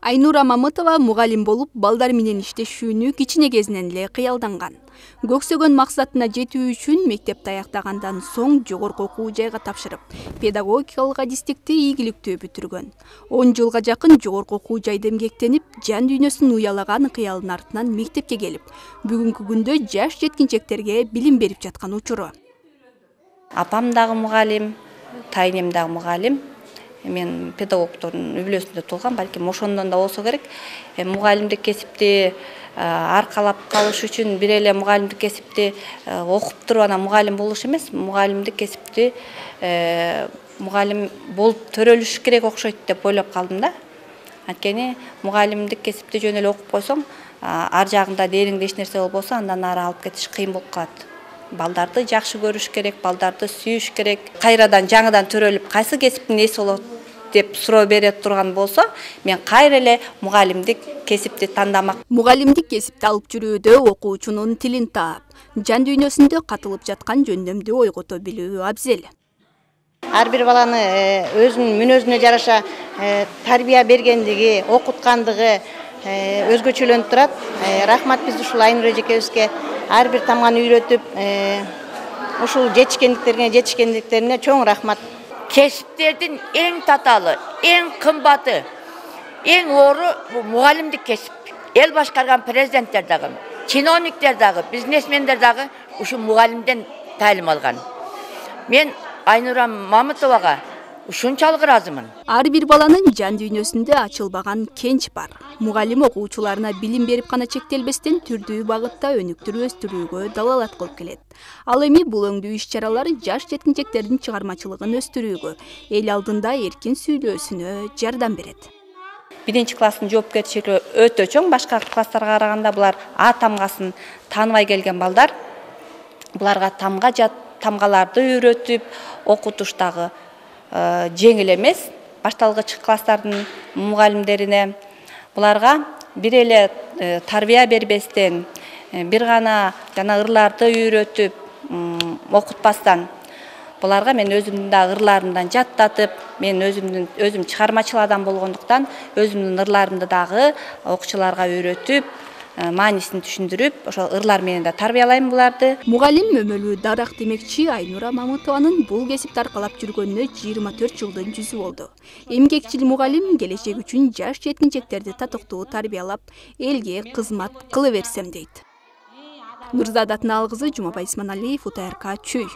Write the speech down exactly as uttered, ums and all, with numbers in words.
Айнура Мамытова мугалим болуп, балдар менен иштешүүнү кичине кезинен эле кыялданган. Көксөгөн максатына жетүү үчүн мектепти аяктагандан соң жогорку окуу жайга тапшырып, педагогикалык адистикти ийгиликтүү бүтүргөн. он жылга жакын жогорку окуу жайда эмгектенип, жан дүйнөсүн уялаган кыялдын артынан мектепке келип, бүгүнкү күндө жаш жеткинчектерге билим берип жаткан учуру. Апам дагы мугалим, тайнем дагы мугалим. Мен педагогдордун үй-бүлөсүндө туулгам, балким ошондон да болсо керек. Мугалимдик кесипти аркалап калыш үчүн бир эле мугалимдик кесипти окуп туруп анан мугалим болуш эмес, мугалимдик кесипти мугалим болуп төрөлүш керек окшойт деп ойлоп калдым да. Анткени мугалимдик кесипти жөн эле окуп койсоң, ар жагында дээриңде эч нерсе болбосо, андан ары алып кетиш кыйын болуп калат. Балдарды жакшы көрүш керек, балдарды сүйүш керек. Кайрадан жаңыдан төрөлүп, кайсы кесиптин ээси болот деп суроо бере турган болсо, мен кайра эле мугалимдик кесипти тандамак. Мугалимдик кесипти алып жүрүүдө окуучунун тилин таап, жан дүйнөсүндө катылып жаткан жөндөмдү ойгото билүү абзел. Ар бир баланы өзүнүн мүнөзүнө жараша тарбия бергендиги, окуткандыгы өзгөчөлөнүп турат. Рахмат биз ушул Айнура эжекебизге ар бир тамганы үйрөтүп, ушул жетишкендиктерине, жетишкендиктерине чоң рахмат. Кесиптердин эң таталы, эң кымбаты, эң оору мугалимдик кесип. Эл башкарган президенттер дагы, чиновниктер дагы, бизнесмендер дагы ушул мугалимден таалим алган. Мен Айнура Мамытовага ушунчалык ыраазымын. Ар бир баланын жан дүйнөсүндө ачылбаган кенч бар. Мугалим окуучуларына билим берип гана чектелбестен түрдүү багытта өнүктүрүп өстүрүүгө далалат кылып келет. Ал эми бул өңдүү иш-чаралар жаш жеткинчектердин чыгармачылыгын өстүрүүгө, эл алдында эркин сүйлөөсүнө жардам берет. Биринчи класстын жоопкерчилиги өтө чоң, башка класстарга караганда булар А тамгасын тааныбай келген балдар. Буларга тамга жат тамгаларды үйрөтүп, окутуштагы жеңил эмес. Башталгыч класстардын мугалимдерине буларга бир эле тарбия бербестен, бир гана жана ырларды үйрөтүп, окутпастан, буларга мен өзүмдүн да ырларымдан жаттатып, мен өзүмдүн өзүм чыгармачыл адам болгондуктан өзүмдүн ырларымды дагы окуучуларга үйрөтүп, маанисин түшүндүрүп, ошол ырлар менен да тарбиялайм буларды. Мугалим өмөлүү дарак демекчи Айнура Мамытованын бул кесипти аркалап жүргөнүнө жыйырма төрт жылдын жүзү болду. Эмгекчил мугалим келечек үчүн жаш жеткинчектерди татыктуу тарбиялап, элге кызмат кыла берсем дейт. Нурзада Атыналкызы, Жумабай Исманалиев, УТРК Чүй.